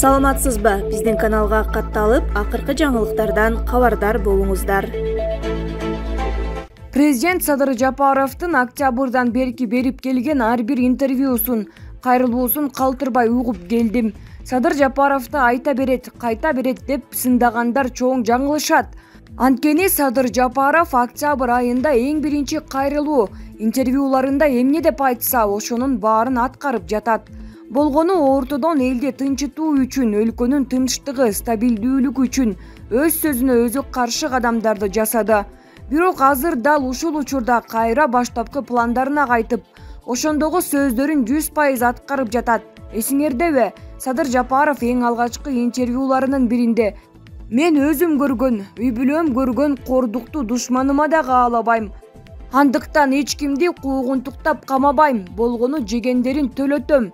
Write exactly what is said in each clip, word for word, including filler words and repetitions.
Саламатсызбы? Биздин каналга катталып, акыркы жаңылыктардан кабардар болуңуздар. Президент Садыр Жапаровдун октябрдан берки берип келген ар бир интервьюсун, кайрылуусун калтырбай угуп келдим. Садыр Жапаровду айта берет, кайта берет деп сындагандар чоң жаңылышат. Анткени Садыр Жапаров октябрь айында эң биринчи кайрылуу интервьюларында эмне деп айтса, ошонун баарын аткарып жатат. Болгону ортодон элди тынчытуу үчүн, өлкөнүн тынчтыгы, стабилдүүлүгү үчүн өз сөзүнө өзү каршы кадамдарды жасады. Бирок азыр дал ушул учурда кайра баштапкы пландарына кайтып, ошондогу сөздөрүн жүз пайыз аткарып жатат. Эсиңердеби? Садыр Жапаров эң алгачкы интервьюларынын биринде мен өзүм көргөн, үй бүлөм көргөн кордукту душманыма да каалабайм. Андыктан эч кимди куугунтуктап камабайм, болгону жегендерин төлөтөм.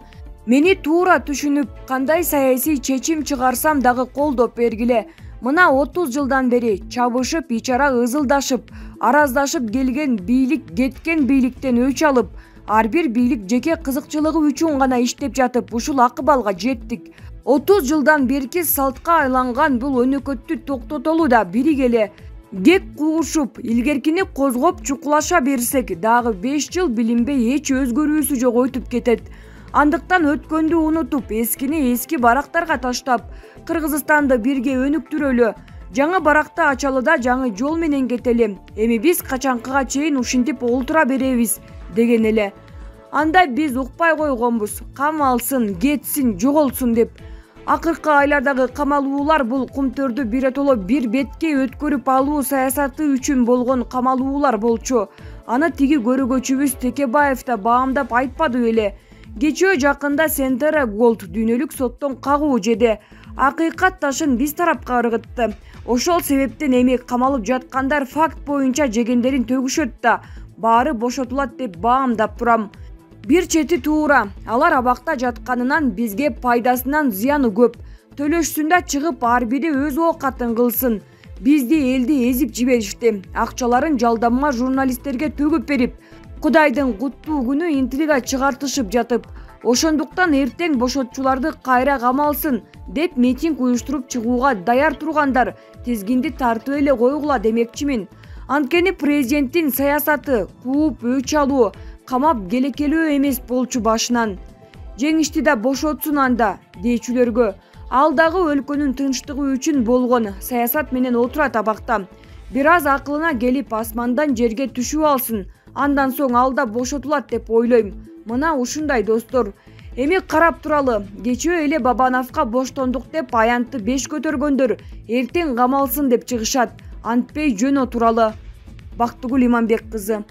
Мени туура түшүнүп, кандай саясий чечим чыгарсам дагы колдоп бергиле. Мына отуз жылдан бери чабышып, ичара ызылдашып, араздашып келген бийлик кеткен бийликтен өч алып, ар бир бийлик жеке кызыкчылыгы үчүн гана иштеп жатып, ушул акыбалга жеттик. отуз жылдан берки салтка айланган бул өнөкөттү токтотолу да биригеле. Кек куушуп, илгеркини козгоп чукулаша берсек, дагы беш жыл билинбей эч өзгөрүүсү жок өтүп кетет. Андыктан өткөндү унутуп, эскини эски барактарга таштап, Кыргызстанды бирге өнүктүрөлү. Жаңы баракты ачалы да жаңы жол менен кетели. Эми биз качанкыга чейин ушинтип олтура беребиз деген эле. Анда биз укпай койгонбуз. Кам алсын, кетсин, жоголсун деп. Акыркы айлардагы камалуулар бул кумтөрдү биротоло бир бетке өткөрүп алуу саясаты үчүн болгон камалуулар болчу. Аны тиги көрөгөчүбүз Текебаев да баамдап айтпады беле. Кечөө жакында Сентера Голд дүйнөлүк соттон кагуу жеди. Акыйкат ташын биз тарапка ыргытты. Ошол себептен эми камалып жаткандар факт боюнча жегендерин төгүшөт да, баары бошотулат деп баамдап турам. Бир чети туура, алар абакта жатканынан бизге пайдасынан зыяны көп. Төлөшсүн да чыгып ар бири өз оокатын кылсын. Бизди элди эзип жиберишти. Акчаларын жалданма журналисттерге төгүп берип, Кудайдын куттуу күнү интрига чыгартышып жатып, ошондуктан эртең бошотчуларды кайра камалсын деп митинг уюштуруп чыгууга даяр тургандар тизгинди тартып эле койгула демекчимин. Анткени президенттин саясаты кууп өч алуу, камап келекелөө эмес болчу башынан. Жеңишти да бошотсун анда дейчүлөргө. Ал дагы өлкөнүн тынчтыгы үчүн болгон саясат менен отурат абакта. Бир аз акылына келип асмандан жерге түшүп алсын. Андан соң алда бошотулат деп ойлойм. Мына ушундай достор. Эми карап туралы. Кечөө эле Бабановго боштондук деп аянтты беш көтөргөндөр эртең камалсын деп чыгышат. Антпей жөн отуралы. Бактыгүл Иманбек кызы.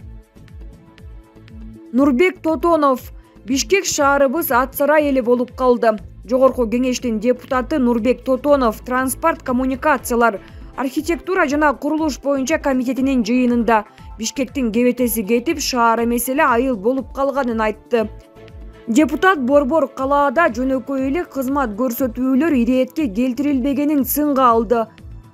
Нурбек Тотонов. Бишкек шаарыбыз ат сарай эле болуп калды. Жогорку кеңештин депутаты Нурбек Тотонов транспорт коммуникациялар, архитектура жана курулуш боюнча комитетинин жыйынында Бишкектин кебетеси кетип, шаар меселе айыл болуп калганын айтты. Депутат борбор калаада жөнөкөй эле кызмат көрсөтүүлөр иретке келтирилбегенин сынга алды.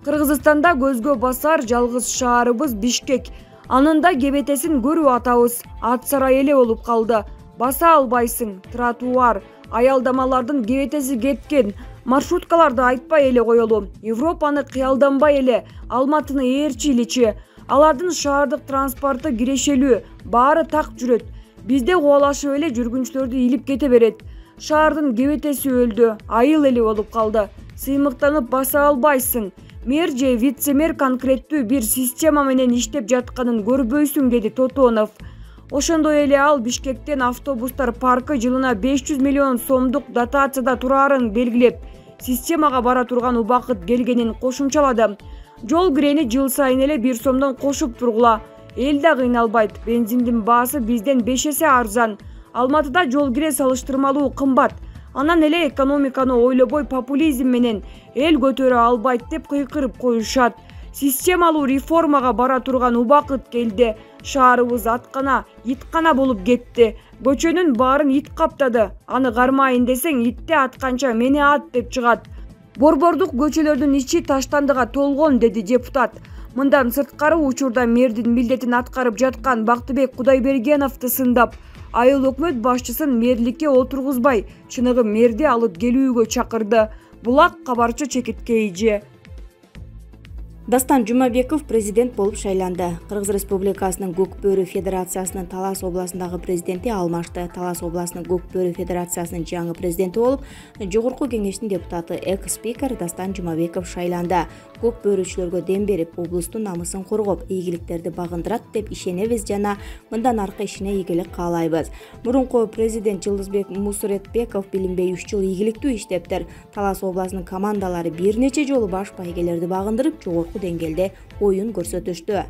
Кыргызстанда көзгө басар жалгыз шаарыбыз Бишкек. Анын да кебетесин көрүп атабыз. Ат сарай эле болуп калды. Баса албайсың, тротуар, аялдамалардын кебетеси кеткен. Маршруткаларды айтпай эле коелу. Европаны кыялданбай эле, Алматыны ээрчиличи. Алардын шаардык транспорту кирешелүү, баары так жүрөт. Бизде кубалашып эле жүргүнчүлөрдү илип кете берет. Шаардын кебетеси өлдү, айыл эле болуп калды. Сыймыктанып баса албайсың. Мэр же вице-мэр конкреттүү бир система менен иштеп жатканын көрбөйсүң, деди Тотонов. Ошондой эле ал Бишкектен автобустар паркы жылына беш жүз миллион сомдук дотацияда турарын белгилеп, системага бара турган убакыт келгенин кошумчалады. Жол кирени жыл сайын эле бир сомдон кошуп тургула. Эл да кыйналбайт. Бензиндин баасы бизден беш эсе арзан. Алматыда жол кире салыштырмалуу кымбат. Анан эле экономиканы ойлобой популизм менен эл көтөрө албайт деп кыйкырып коюшат. Системалуу реформага бара турган убакыт келди. Шаарыбыз аткана, иткана болуп кетти. Көчөнүн баарын ит каптады. Аны кармайын десең, итти атканча мени ат деп чыгат. Борбордук көчөлөрдүн ичи таштандыга толгон, деди депутат. Мындан сырткары учурда мэрдин милдетин аткарып жаткан Бактыбек Кудайбергеновду сындап, айыл өкмөт башчысын мэрликке отургузбай, чыныгы мэрди алып келүүгө чакырды. Булак кабарчы чекитке ийже. Дастан Жумабеков президент болуп шайланды. Кыргыз Республикасынын Көк Бөрү Федерациясынын Талас областындагы президенти алмашты. Талас областынын Көк Бөрү Федерациясынын жаңы президенти болуп, жогорку кеңештин депутаты экс-спикер Дастан Жумабеков шайланды. Көк бөрүчүлөргө дем берип, облустун намысын коргоп, ийгиликтерди багындырат деп ишенебиз жана мындан аркы ишине ийгилик каалайбыз. Мурунку президент Жылдызбек Мусуретбеков билинбей үч жыл ийгиликтүү иштептир. Талас областынын командалары бир нече жолу баш байгелерди багындырып, жогорку деңгээлде оюн көрсөтүштү.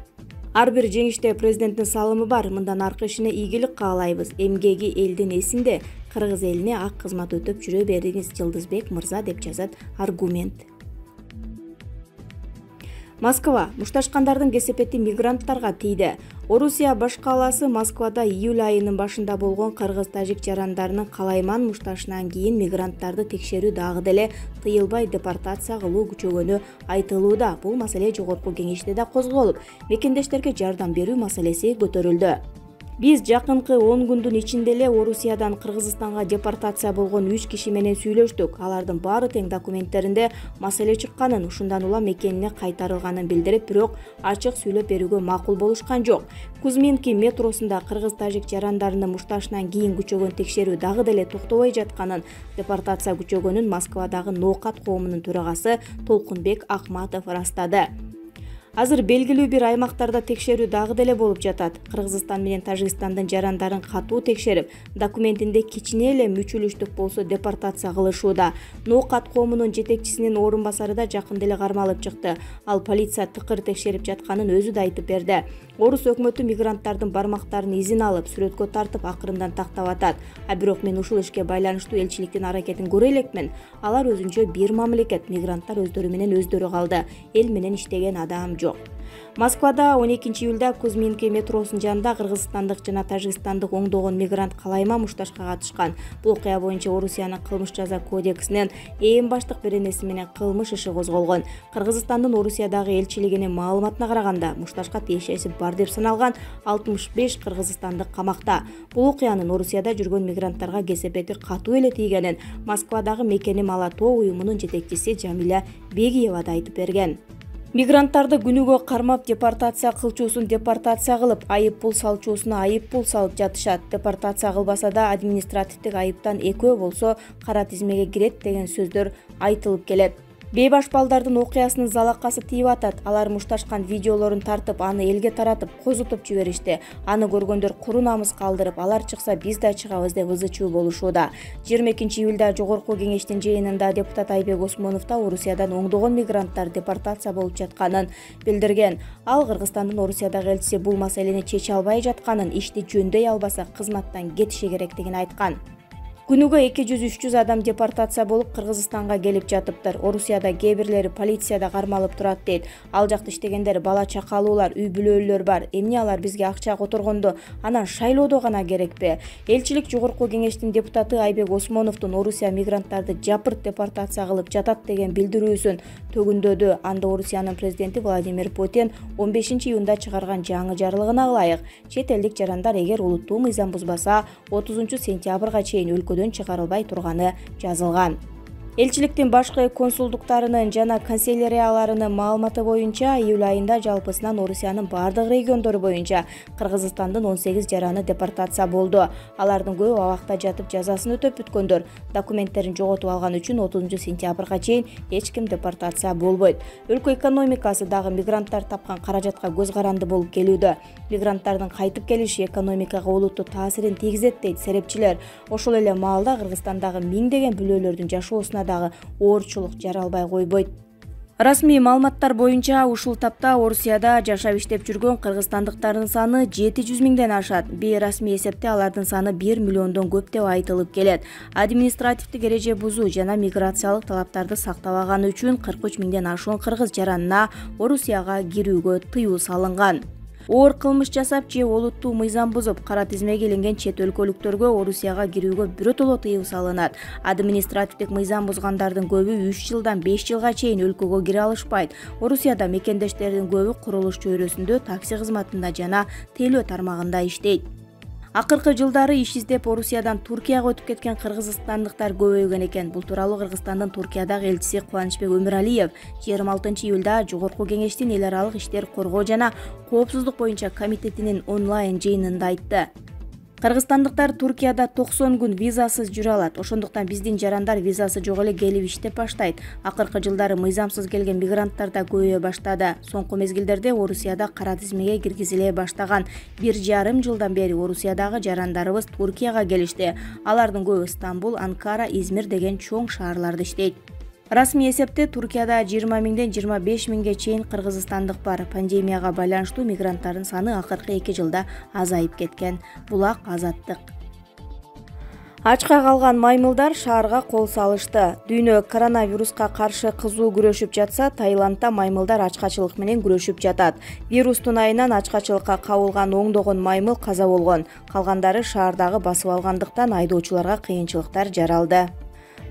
Ар бир жеңиште президенттин салымы бар. Мындан аркы ишине ийгилик каалайбыз. Эмгеги элдин эсинде, кыргыз элине ак кызмат өтөп жүрө бериңиз, Жылдызбек мырза, деп жазат аргумент. Москва мушташкандардын кесепети мигранттарга тийди. Орусия баш калаасы Москвада июль айынын башында болгон кыргыз-тажик жарандарынын калайман мушташынан кийин мигранттарды текшерүү дагы деле тыйылбай депортация кылуу күчөгөнү айтылууда. Бул маселе жогорку кеңеште да козголуп, мекендештерге жардам берүү маселеси көтөрүлдү. Биз жакынкы он күндүн ичинде эле Орусиядан Кыргызстанга депортация болгон үч киши менен сүйлөштүк. Алардын баары тең документтеринде маселе чыкканын, ушундан улам мекенине кайтарылганын билдирип, бирок ачык сүйлөп берүүгө макул болушкан жок. Кузминки метросунда кыргыз-тажик жарандарынын мушташынан кийин күчөгөн текшерүү дагы деле токтобой жатканын, депортация күчөгөнүн Москвадагы ноокат коомунун төрагасы Толкунбек Акматов ырастады. Азыр белгилүү бир аймактарда текшерүү дагы деле болуп жатат. Кыргызстан менен Тажикстандын жарандарын катуу текшерип, документинде кичине эле мүчүлүштүк болсо депортация кылышууда. Ноокат коомунун жетекчисинин орун басары да жакында эле кармалып чыкты. Ал полиция тыкыр текшерип жатканын өзү да айтып берди. Орус өкмөтү мигранттардын бармактарын изин алып, сүрөткө тартып, акырындан тактап атат. А бирок мен ушул ишке байланыштуу элчиликтин аракетин көрө элекмин. Алар өзүнчө бир мамлекет, мигранттар өздөрү менен өздөрү калды. Эл менен иштеген адам жок. Москвада он экинчи июлда Кузминки метросунун жанында кыргызстандык жана тажикстандык оңдогон мигрант калайма мушташка катышкан. Бул окуя боюнча Орусиянын кылмыш жаза кодексинин эң баштык беренеси менен кылмыш иши козголгон. Кыргызстандын Орусиядагы элчилигинин маалыматына караганда, мушташка тиешеси бар деп саналган алтымыш беш кыргызстандык камакта. Бул окуянын Орусияда жүргөн мигранттарга кесепети катуу эле тийгенин Москвадагы Мекеним ала тоо уюмунун жетекчиси Жамиля Бегиева да айтып берген. Мигранттарды күнүгө кармап депортация кылчуусун депортация кылып, айып пул салчуусуна айып пул салып жатышат. Депортация кылбаса да административдик айыптан экөө болсо кара тизмеге кирет деген сөздөр айтылып келет. Бейбаш балдардын окуясынын залакасы тийип атат. Алар мушташкан видеолорун тартып, аны элге таратып, козутуп жиберишти. Аны көргөндөр куру намыс калдырып, алар чыкса биз да чыгабыз деп ызы чуу болушууда. жыйырма экинчи июлда жогорку кеңештин жыйынында депутат Айбек Осмонов да Орусиядан оңдогон мигранттар депортация болуп жатканын билдирген. Ал Кыргызстандын Орусиядагы элчиси бул маселени чече албай жатканын, ишти жөндөй албаса кызматтан кетиши керектигин айткан. Күнүгө эки жүз үч жүз адам депортация болуп Кыргызстанга келип жатыптыр. Орусияда кээ бирлери полицияда кармалып турат дейт. Ал жакта иштегендер бала чакалуулар, үй бүлөлөр бар. Эмне алар бизге акча которгондо анан шайлоодо гана керекпи? Элчилик жогорку кеңештин депутаты Айбек Осмоновдун Орусия мигранттарды жапырт депортация кылып жатат деген билдирүүсүн төгүндөдү. Анда Орусиянын президенти Владимир Путин он бешинчи июнда чыгарган жаңы жарлыгына ылайык чет элдик жарандар эгер улуттуу мыйзам бузбаса отузунчу сентябрга чейин өлкө чыгарылбай турганы жазылган. Элчиликтин башкы консулдуктарынын жана канцелярияларынын маалыматы боюнча июль айында жалпысынан Орусиянын бардык региондору боюнча Кыргызстандын он сегиз жараны депортация болду. Алардын көбү абакта жатып жазасын өтөп бүткөндөр. Документтерин жоготуп алган үчүн отузунчу сентябрга чейин эч ким депортация болбойт. Өлкө экономикасы дагы мигранттар тапкан каражатка көз каранды болуп келүүдө. Мигранттардын кайтып келиши экономикага олуттуу таасирин тийгизет дейт серепчилер. Ошол эле маалда Кыргызстандагы миңдеген бүлөлөрдүн жашоосуна дагы оорчулук жаралбай койбойт. Расмий маалыматтар боюнча ушул тапта Орусияда жашап иштеп жүргөн кыргызстандыктардын саны жети жүз миңден ашат. Бейрасмий эсепте алардын саны бир миллиондон көп деп айтылып келет. Административдик эреже бузуу жана миграциялык талаптарды сактабаганы үчүн кырк үч миңден ашуун кыргыз жаранына Орусияга кирүүгө тыюу салынган. Оор кылмыш жасап же олуттуу мыйзам бузуп, кара тизмеге иленген чет өлкөлүктөргө Орусияга кирүүгө биротоло тыюу салынат. Административдик мыйзам бузгандардын көбү үч жылдан беш жылга чейин өлкөгө кире алышпайт. Орусияда мекендештердин көбү курулуш чөйрөсүндө, такси кызматында жана тейлөө тармагында иштейт. Акыркы жылдары иш издеп Орусиядан Туркияга өтүп кеткен кыргызстандыктар көбөйгөн экен. Бул тууралуу Кыргызстандын Туркиядагы элчиси Кубанычбек Өмүралиев жыйырма алтынчы июлда Жогорку Кеңештин эл аралык иштер коргоо жана коопсуздук боюнча комитетинин онлайн жыйынында айтты. Кыргызстандыктар Туркияда токсон күн визасыз жүрө алат. Ошондуктан биздин жарандар визасы жок эле келип иштеп баштайт. Акыркы жылдары мыйзамсыз келген мигранттар да көбөйө баштады. Соңку мезгилдерде Орусияда кара тизмеге киргизиле баштаган. Бир жарым жылдан бери Орусиядагы жарандарыбыз Туркияга келишти. Алардын көбү Стамбул, Анкара, Измир деген чоң шаарларда иштейт. Расмий эсепте Туркияда жыйырма миңден жыйырма беш миңге чейин кыргызстандык бар. Пандемияга байланыштуу мигранттардын саны акыркы эки жылда азайып кеткен. Булак Азаттык. Ачка калган маймылдар шаарга кол салышты. Дүйнө коронавируска каршы кызуу күрөшүп жатса, Таиландда маймылдар ачкачылык менен күрөшүп жатат. Вирустун айынан ачкачылыкка кабылган оңдогон маймыл каза болгон. Калгандары шаардагы басып алгандыктан айдоочуларга кыйынчылыктар жаралды.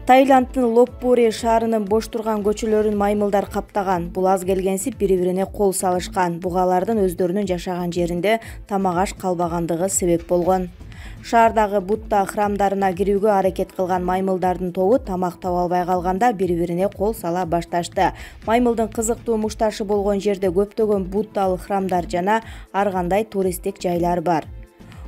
Таиланддын Лопбури шаарынын бош турган көчөлөрүн маймылдар каптаган. Бул аз келгенсип бири-бирине кол салышкан. Бугалардын өздөрүнүн жашаган жеринде тамак аш калбагандыгы себеп болгон. Шаардагы Будда храмдарына кирүүгө аракет кылган маймылдардын тобу тамак таба албай калганда бири-бирине кол сала башташты. Маймылдын кызыктуу мушташы болгон жерде көптөгөн буддалык храмдар жана ар кандай туристтик жайлар бар.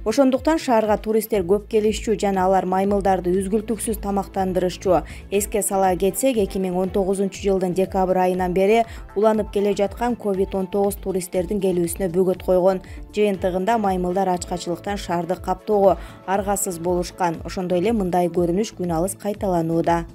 Ошондуктан шаарга туристтер көп келишчү жана алар маймылдарды үзгүлтүксүз тамактандырышчу. Эске сала кетсек, эки миң он тогузунчу жылдын декабрь айынан бери уланып келе жаткан ковид он тогуз туристтердин келүүсүнө бөгөт койгон. Жыйынтыгында маймылдар ачкачылыктан шаарды каптоого аргасыз болушкан. Ошондой эле мындай көрүнүш күн алыс кайталанууда.